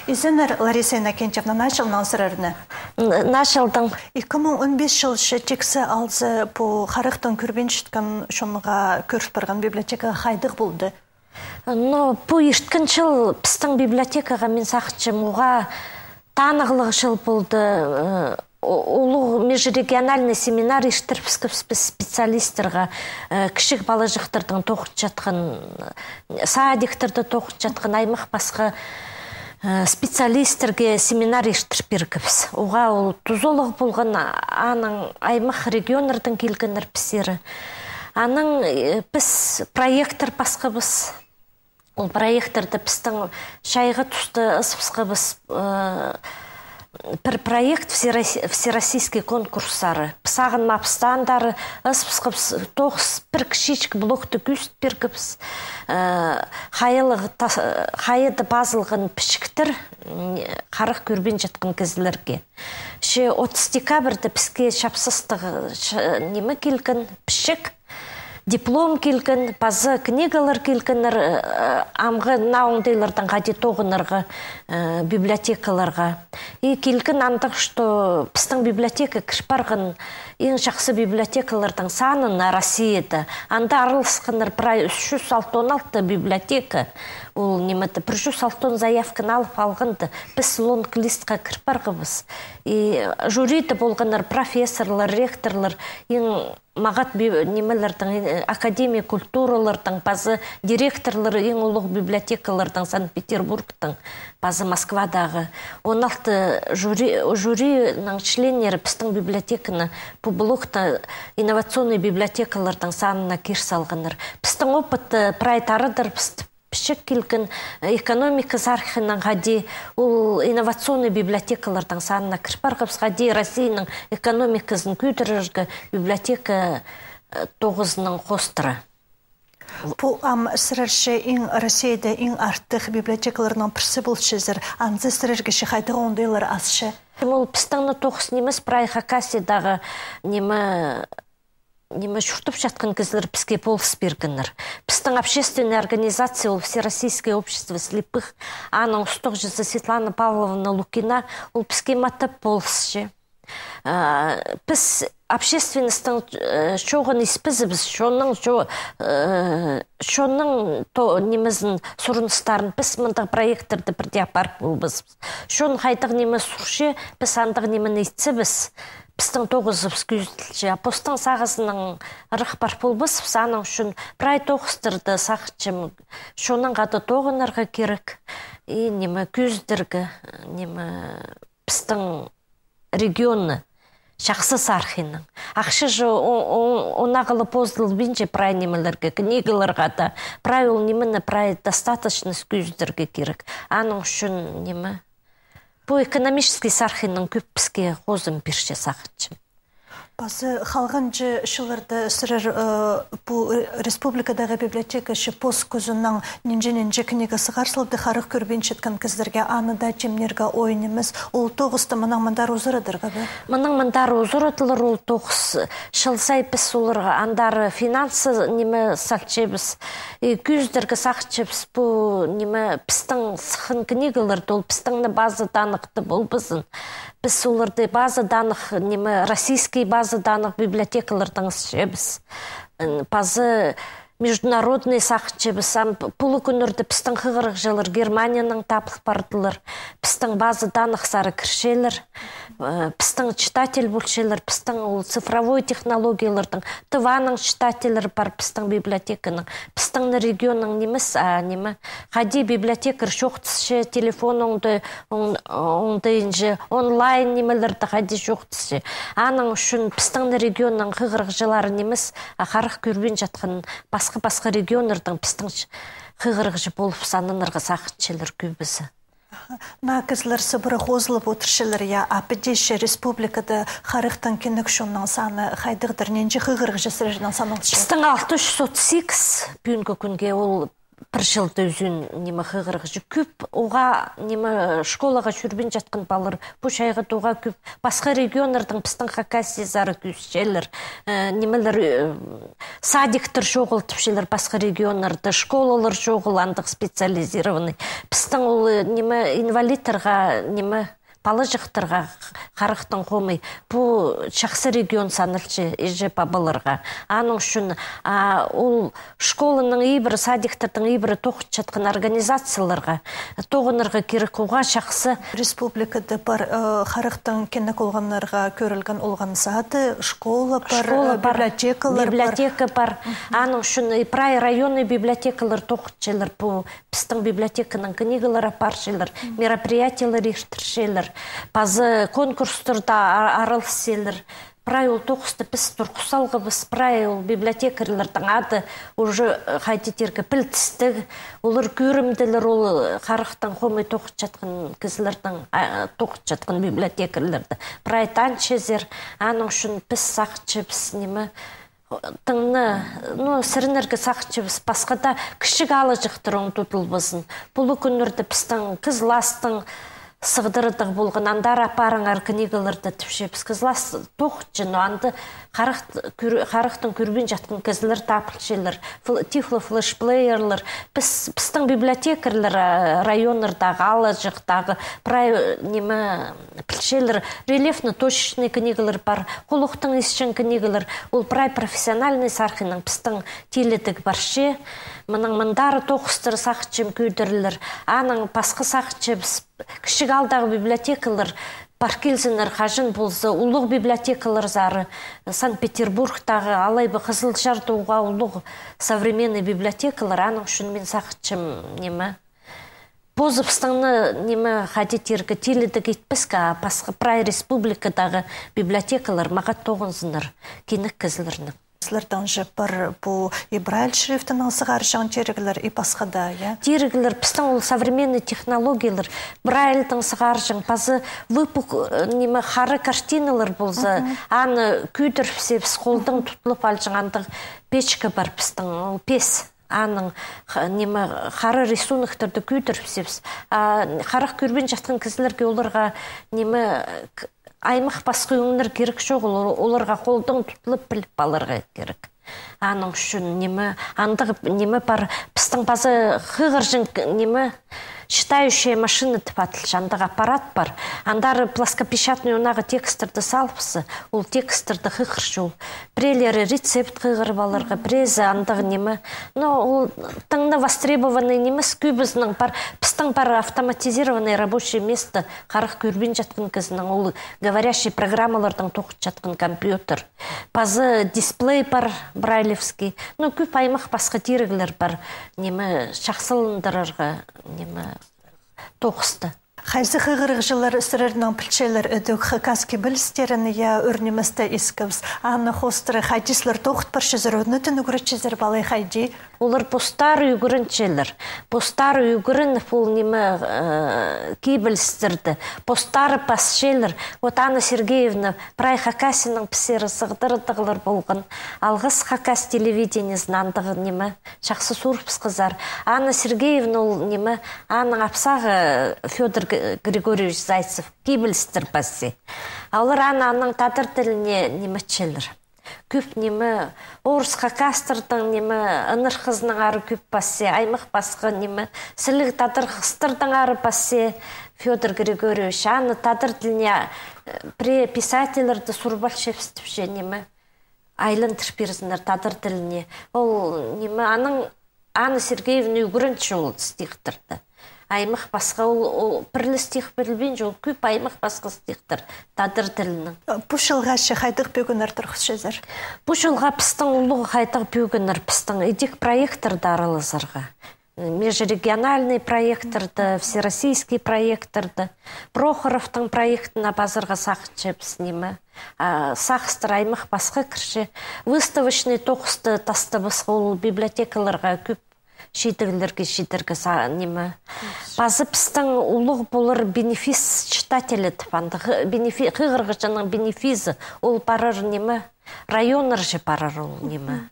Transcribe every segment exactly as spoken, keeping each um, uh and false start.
Изеннер, Лариса Иннокентьевна, наа чылнаң сірерні. Н-, наа чылдаң. Ікі муң он пис чылча тиксі алза, пу харахтаң кӧрбинчеткен чонға кӧріс парған библиотекаға хайдағ полды? Ну, пу ирткен чыл пістің библиотекаға, мин сағынчам, уғаа танығлығ чыл полды. Э, у-, улуғ межрегиональный семинар иртірібіскебіс піс специалистерге, э, кічіг палаҷахтардаң тоғынчатхан, э, садиктарда тоғынчатхан, аймах пасха, э, специалистерге семинар иртір пиргебіс. Уғаа ол тузалығ полған, а-, анаң аймах регионнардаң килгеннер пістерге. Анаң, э, піс проекттер пасхабыс. Ол проекттерді пістің чайғы туста ызыбысхабыс, э, пір проект всерос-, всероссийский конкурстары. Сағынмабыс, андары ызыбысхабыс, тоғыс пір кічіҷек блокты кӧзіт пиргебіс. Э, хайылығ тас-, хайыда пазылған пічіктер, м, харах кӧрбинчеткен кізілерге. Че отыс декабрьда піске чапсыстығ, ч-, ниме килген, пічік, диплом килген, паза книгалар килгеннер, э, амғы наа оңдайлардаң хайди тоғынарға, э, библиотекаларға. И килген андағ, что пістің библиотека кір парған иң чахсы библиотекалардаң санына Россияда. Анда араласханнар прай ӱс чӱс алты он алты библиотека. Ол ниме-де, пір чӱс алты он заявканы алып алғанда, піс лонг-листха кір парғабыс. И жюриде полғаннар профессорлар, ректорлар, иң мағат би-, нимелердең, э, академия культуралардаң, паза директорлар иң улуғ библиотекалардаң, Санкт-Петербургтың, паза Москвадағы. Он алты жюри, жюриның членнері пістің библиотеканы пу блокта инновационный библиотекаларның санына кир салғаннар. Пістің опыт, э, прай тарадыр, піс пічік килген, э, экономика сархинаң хайди ол инновационный библиотекаларның санына кір парғабыс, хайди Россияның экономиказын кӧдірерге библиотека, э, тоғызынаң хоостыра. Пу ам сірерче иң Россияда иң артых библиотекаларның пірсі полчазар, анзы сірерге че хайдағ оңдайлар асча? Ол пістің не тоғыс нимес, прай Хакасиядағы ниме, ниме чуртап чатхан кізілер піске полыс пиргеннер. Пістің общественный организация, ол Всероссийское общество слепых, аның устағҷызы Светлана Павловна Лукина, ол піске матап полысча. А, піс общественностьтың, э, чоғын испезібіс, чонның чо-, э, чонның то-, нимезін, сурыныстарын піс мындағ проекттерді пірдее апарып полбаспыс. Чон хайдағ ниме сурча, піс андағ нимені итсебіс, пістің тоғызыбыс кӧзіділче. А постың сағызынаң ырах пар полбаспыс, аның ӱчӱн прай тоғыстарда сағынчам, чоннаң хада тоғынарға кирек. И ниме кӧзідерге, ниме пістің регионны чахсы сархинаң. Ахча же о-, о-, он ағылып позылбинча прай нимелерге, книгаларға даа. Прай ол нимені, прай достаточность кӧзідерге кирек. Аның ӱчӱн ниме, пу экономический сархинаң кӧп піске хозым пирче сағынчам. Пазы халғанҷы чылларда сірер, э, пу, э, республикадағы библиотека че пос кӱзінең нинҷе-нинҷе книга сығар салды харах кӧрбинчеткен кізілерге, аны даа тимнирге оой нимес. Ол тоғысты мынаң мындар узарадарға ба? Мынаң мындар узарадылар ол тоғыс. Чыл сай піс оларға андар финансы ниме салчабыс. И кӧзідерге сағынчабыс пу ниме пістің сыххан книгаларды, ол пістің не база данныхта полбазын. Піс оларды база данных, ниме, российский база данных библиотекалардаң ысчабыс. М, паза международный сағынчабыс. Ам п-, пу кӱннерде пістің хығырығҷылар Германиянаң табыл пардылар. Пістің база данных сары кірчелер. Э, пістің читатель полчалар, пістің ол цифровой технологиялардаң, Тываның читательлері пар пістің библиотеканың. Пістің не регионның нимес, а ниме, хайди библиотекарь чоохтасча, телефон оңдай, оң-, оңдайынҷа, онлайн нимелерде хайди чоохтасча. Аның ӱчӱн пістің не регионның хығырығҷылары нимес, а харах кӧрбинчеткен пасха-пасха регионнардаң пістің ч-, хығырығҷы полып сананарға сағынчалар кӧбізі. Наа кізілер сыбыра хозылып одырчалар, я, а піди че республикада харахтаң киліг чонның саны хайдағдыр, нинҷе хығырығҷы сірернең саналча? Пістің алты чӱс отыс сигіс пӱӱнгі кӱнге, ол пір чылда ӱзӱн, ниме, хығырығҷы. Кӧп уғаа, ниме, школаға чӧрбин чатхан палалар, пу чайғы тоға кӧп пасха регионнардаң пістің Хакасиязар кӧзітчелер. Э, нимелер, э, садиктер чоғыл тіпчелер пасха регионнарда, школалар чоғыл андағ специализированный. Пістің ол, э, ниме, инвалидтарға, ниме, палаҷахтарға харахтың хомай. Пу чахсы регион саналча, іҷе-пабаларға. Аның ӱчӱн, а, ол школаның ибіре, садиктернің ибіре тоғынчатхан организацияларға тоғынарға кирек, уғаа чахсы. Республикада пар, э, харахтың кенек олғаннарға кӧрілген олған сады, школа пар, школа э, пар, библиотекалар пар. Библиотека пар. Аның ӱчӱн и прай районный библиотекалар тоғынчалар пу пістің библиотеканың книгалар апарчалар, мероприятиелер иртірчелер, паза конкурстарда а-, араласчалар. Прай ол тоғысты піс турғыс салғабыс, прай ол библиотекарьларның ады уже, э, хайди тирге, пілдістіг, олар кӧрімділер, ол, э, харахтың хомай тоғынчатхан кізілернің, а, тоғынчатхан библиотекарьларды. Прай танчазар, аның ӱчӱн піс сағынчабыс, ниме, тыңны, ну, сіренерге сағынчабыс, пасха даа кічіг аалҷахтар оң тудылбазын. Пу кӱннерде пістің Кызластың сығдырығ полған, андар апарыңар книгаларды тіпчебіс. Кызлас тоғынча, но анда харах-, кӧр-, харахтың кӧрбин чатхан кізілер табылчалар. Фл-, тифлофлешплеерлер. Піс, пістің библиотекарьлар, а, районнардағы, аалҷахтағы, прай, э, ниме, пілчелер, рельефно-точечный книгалар пар, хулухтың исчең книгалар, ол прай профессиональный сархинаң пістің тилідіг парча. Мының мындары тоғыстар сағынчам кӧдірілер. Анаң пасха сағынчабыс, кічіг аалдағы библиотекалар пар килзіннер, хаҷан полза, улуғ библиотекаларзар, Санкт-Петербургтағы, алай ба Хызылчарда уғаа улуғ современный библиотекалар, аның ӱчӱн мин сағынчам, ниме, позыбыстың, ниме, хайди тирге, тилідіг итпеске, а пасха прай республикадағы библиотекалар мағат тоғынзыннар, кенек кізілернең. Сірернің же пар пу и Брайль шрифтінең сығарҷаң тиріглер, и пасха даа, я? Тиріглер, пістің ол современный технологиялар, Брайльдең сығарҷаң, паза выпук-, э, ниме, хара картиналар полза, аны кӧдірібіс, холдаң тутылып алҷаң андағ печка пар пістің, ол пес. Аның х-, ниме, хара рисуноктерді кӧдірібіс. А харах кӧрбин чатхан кізілерге, оларға, ниме, к-, аймах пасха ӧңнер кирек чоғыл, ол-, оларға холдаң тутылып піліп аларға кирек. Аның ӱчӱн, ниме, андағ, ниме, пар, пістің паза хығырҷаң, ниме, читающая машина тіп адалча, андағ аппарат пар. Андар плоскопечатный, ондағы текстерді салыбысса, ол текстерді хығырча ол. Піреелері рецепт хығырып аларға, піреезі андағ, ниме. Но ол тың на востребованный нимес, кӧбізінің пар, пістің пар автоматизированный рабочее место, харах кӧрбин чатхан кізінің, ол говорящий программалардаң тоғынчатхан компьютер. Паза дисплей пар, брайлевский. Ну, кӧп аймах пасха тиріглер пар, ниме, чахсыландырарға, ниме, тоғысты. Хайзы хығырығҷылар сірернең пілчелер ідӧк хакас кибелістерін, я, ӱр ниместі искебіс. Аны хоостыра хайди сірер тоғыт парчазар, ӱнетін ӱгретчезер ба алай хайди? Олар постары ӱгренчелер. Постары ӱгреніп, ол, ниме, э, кибелістерді постары пасчалар. Вот Анна Сергеевна, прай Хакасияның пістерге сығдырығлар полған. Алғыс Хакас телевидениезіне, андағ, ниме, чахсы сурыбысхазар. Анна Сергеевна, ол, ниме, аның апсағы Фёдор Г-, Григорьевич Зайцев, кибелістер пасча. А олар аны, аның тадар тіліне ниме итчелер. Кӧп, ниме, орыс хакастарның, ниме, ынырхызынаң ары кӧп пасча, аймах пасха, ниме, сіліг тадар хыстарнаң ары пасча Фёдор Григорьевич. Аны тадар тіліне, э, пірее писательлерді сурып алчабыс тіпче, ниме, айландырып пирзіннер тадар тіліне. Ол, ниме, аның Анна Сергеевна ӱгренче ол стихтерді. Аймах пасха ол, ол пір ле стих пілбинче, ол кӧп аймах пасха стихтер тадар тілінең. Пу чылға че хайдағ пӧгіннер турғысчазар? Пу чылға пістің улуғ хайдағ пӧгіннер, пістің идӧк проекттерде араласарға. Межрегиональный проекттерде, всероссийский проекттерде. Прохоровтың проектіне пазарға сағынчабыс, ниме. А, сағыстар аймах пасха кірче. Выставочный тоғысты тастабысха, ол библиотекаларға кӧп чидіглерге читерге са-, ниме. Паза пістің улуғ полар бенефис читателі тіп, андағ бенефи-, хығырығҷының бенефизі, ол парар, ниме, районнарҷа парар ол, ниме.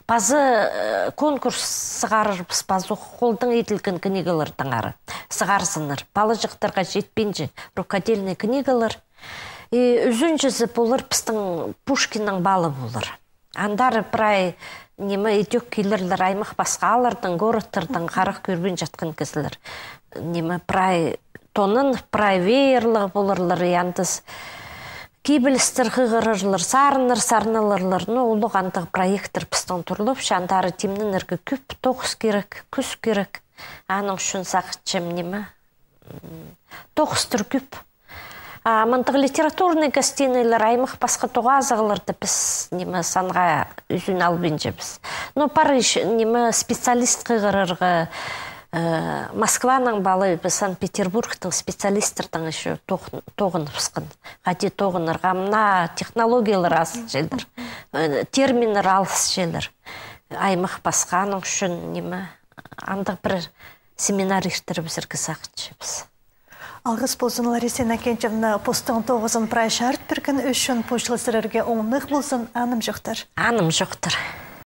Пазы, э, конкурс сығарарбыс, пазы холдаң иділген книгалардаңар сығарзыннар. Палаҷахтарға читпинче рукодельный книгалар. И ӱзінҷізі полар пістің Пушкиннің палы полар. Андар прай ниме идӧк килерлер аймах-пасха ааллардаң, городтардаң харах кӧрбин чатхан кізілер. Ниме прай тонын, прай веерліг поларлар, и андас кибелістер хығырарлар, сарыннар сарналарлар. Ну, улуғ андағ проекттер пістің турлапча, андар тимненерге кӧп тоғыс кирек, кӱс кирек. Аның ӱчӱн сағынчам, ниме, м, тоғыстар кӧп. А мындағ литературный гостинайлар, аймах-пасха тоғазығларда піс, ниме, санға ӱзін албинчабыс. Но пар ещё, ниме, специалист хығырарға, э, Москваның палы, Санкт-Петербургтың специалистердең ещё тоғ-, тоғыныбысхан. Хайди тоғынарға, мына технологиялар алысчалар, э, терминнер алысчалар. Аймах-пасха, аның ӱчӱн, ниме, андағ пір семинар иртірібізерге сағынчабыс. Алғыс ползын, Лариса Иннокентьевна, постың тоғызын прай чарыт пирген ӱчӱн. Пу чыл сірерге оңнығ ползын, анымҷохтар. Анымҷохтар.